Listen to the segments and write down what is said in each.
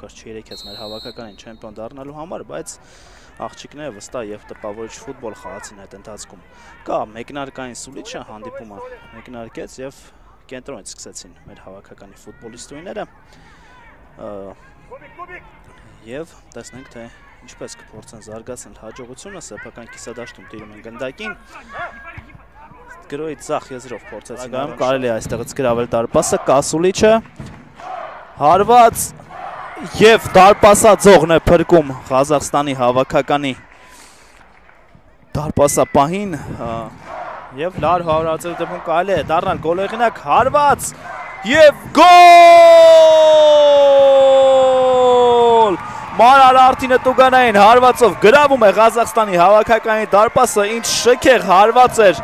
պակաս չերեքեց մեր հավաքականին չեմպիոն դառնալու համար, բայց աղջիկները վստահ եւ տպավորիչ ֆուտբոլ խաղացին այդ ընթացքում։ Կա մեկնարկային սուլիչը հանդիպումը մեկնարկեց եւ կենտրոնից սկսեցին մեր հավաքականի ֆուտբոլիստուհիները եւ տեսնենք թե ինչպես կփորձեն զարգացնել հաջողությունը սեփական կիսադաշտում տիրում են գնդակին։ Գրոյի ձախ եզրով փորձեցին գամ կարելի է այստեղից գրավել դարպասը Կասուլիչը հարված եւ դարպասաձողն է փրկում Ղազախստանի հավաքականի դարպասապահին եւ լար հարվածի դեպքում կարելի է դառնալ գոլեղինակ հարված եւ գոլ Մարալ Արտինը Տուգանային հարվածով գրավում է Ղազախստանի հավաքականի դարպասը ինչ շքեղ հարված էր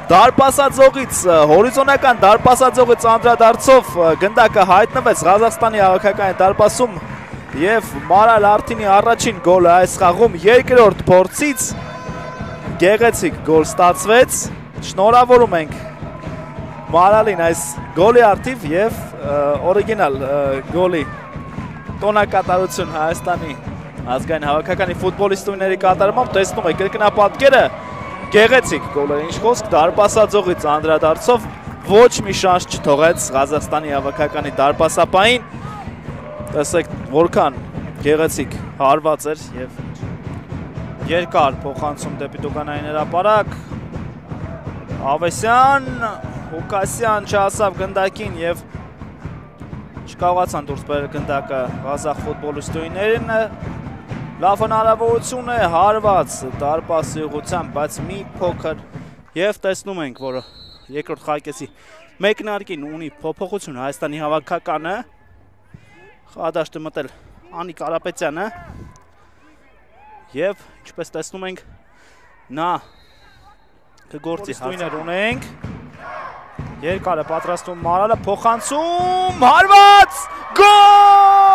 Դարպասաձողից, հորիզոնական դարպասաձողից անդրադարձով գնդակը հայտնվեց Ղազախստանի հավաքականի դարպասում եւ Մարալ Արտինի առաջին գոլը այս խաղում երկրորդ փորձից գեղեցիկ գոլ ստացվեց։ Շնորհավորում ենք Մարալին այս գոլի արդիվ եւ օրիգինալ գոլի տոնակատարություն Հայաստանի ազգային հավաքականի ֆուտբոլիստուհիների կատարմամբ տեսնում եք կրկնապատկերը Գեղեցիկ գոլը ինչ խոսք դարպասաձողից անդրադարձով ոչ մի շանս չթողեց Ղազախստանի հավաքականի դարպասապահին տեսեք որքան գեղեցիկ հարված էր եւ երկար փոխանցում դեպի Տուգանային հրապարակ Ավեսյան Հուկասյան չհասավ գնդակին եւ չկարողացան դուրս բերել գնդակը Ղազախ ֆուտբոլիստուհիներին Լավ հնարավորություն է հարված դարպասի ուղղությամբ, բայց մի փոքր եւ տեսնում ենք, որ երկրորդ խաղակեսի մեկնարկին ունի փոփոխություն Հայաստանի հավաքականը խաղադաշտը մտել Անի Կարապետյանը եւ ինչպես տեսնում ենք նա կգործի հաստույներ ունենք երկարը պատրաստում Մարալը փոխանցում հարված գոլ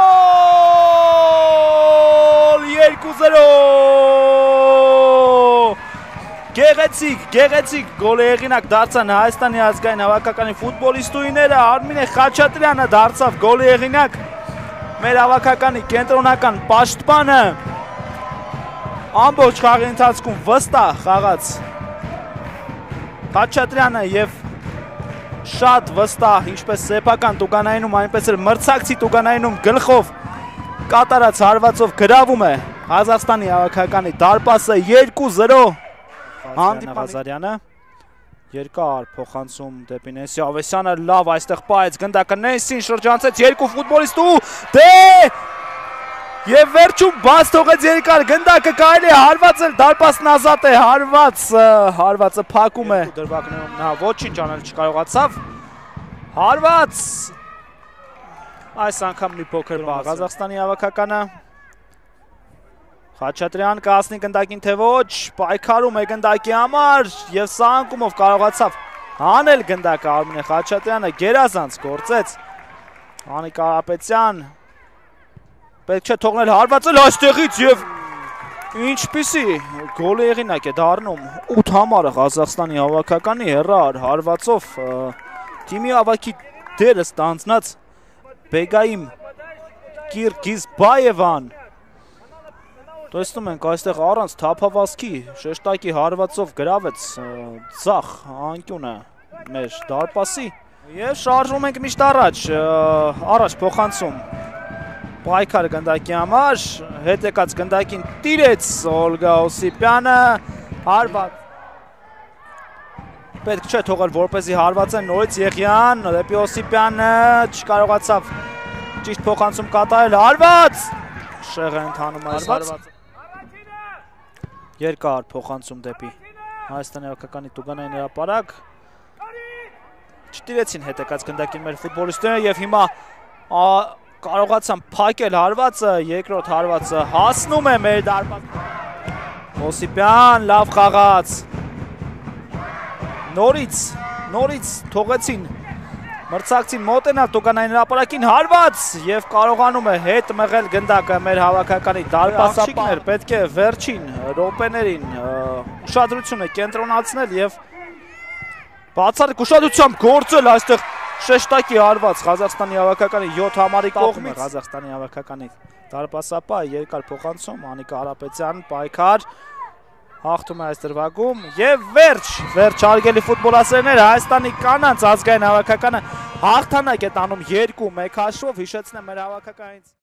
2-0 Գեղեցիկ գոլի հեղինակ դարձան Հայաստանի ազգային հավաքականի ֆուտբոլիստուհիները Արմինե Խաչատրյանը դարձավ գոլի հեղինակ մեր հավաքականի կենտրոնական պաշտպանը ամբողջ խաղի ընթացքում վստահ խաղաց Խաչատրյանը եւ շատ վստահ ինչպես սեփական Տուգանայինում այնպես էլ մրցակցի Տուգանայինում գլխով կատարած հարվածով գրավում է Ղազախստանի հավաքականի դարպասը 2-0 Ղազարյանը երկար փոխանցում դեպի Նենսի Ավեսյանը լավ այստեղ պայեց գնդակը Նենսին շրջանցեց երկու ֆուտբոլիստ ու եւ վերջում բաց թողեց երկար գնդակը կարելի է հարվածել դարպասն ազատ է հարվածը փակում է դրվագներում նա ոչինչ անել չկարողացավ հարված այս անգամ մի փոքր բաց Ղազախստանի հավաքականը Խաչատրյան կհասնի գնդակին թե ոչ պայքարում է գնդակի համար եւ սա անկումով կարողացավ հանել գնդակը Արմինե Խաչատրյանը գերազանց գործեց Անի Կարապետյան Պետք չէ թողնել հարվածել այստեղից եւ ինչպիսի գոլի հեղինակ է դառնում 8 համարը Ղազախստանի հավաքականի հեռար հարվածով թիմի ավակի դերը ստանձնած Բեգայիմ Կիրգիզբաևան տեսնում ենք այստեղ առանց թափավազքի շեշտակի հարվածով գրավեց ձախ անկյունը մեր դարպասի եւ շարժվում ենք միշտ առաջ փոխանցում Պայքար գնդակի համար, հետ եկած գնդակին տիրեց Օլգա Օսիպյանը, հարված, պետք չէ թողել որպեսզի հարվածեն նորից Եղյան, դեպի Օսիպյանը, չկարողացավ ճիշտ փոխանցում կատարել, հարված, շեղ է ընթանում այս հարվածը, երկար փոխանցում դեպի Հայաստանի հավաքականի Տուգանային հրապարակ, չտիրեցին հետ եկած գնդակին մեր ֆուտբոլիստները եւ հիմա կարողացան փակել հարվածը, երկրորդ հարվածը հասնում է մեր դարպաս Օսիպյան, լավ խաղաց նորից թողեցին մրցակցին մոտենալ Տուգանային հրապարակին հարված եւ կարողանում է հետ մղել գնդակը մեր հավաքականի դարպասապահներ պետք է վերջին րոպեներին ուշադրությունը կենտրոնացնել եւ բացառիկ ուշադրությամբ գործել այստեղ Շեշտակի արված Ղազախստանի հավաքականի 7 համարի կողմից Ղազախստանի հավաքականի դարպասապա երկար փոխանցում Անիկ Կարապետյան պայքար հաղթում է այս դրվագում եւ վերջ հարգելի ֆուտբոլասերներ Հայաստանի կանանց ազգային հավաքականը հաղթանակ է տանում 2-1 հաշվով հիշեցնեմ մեր հավաքականից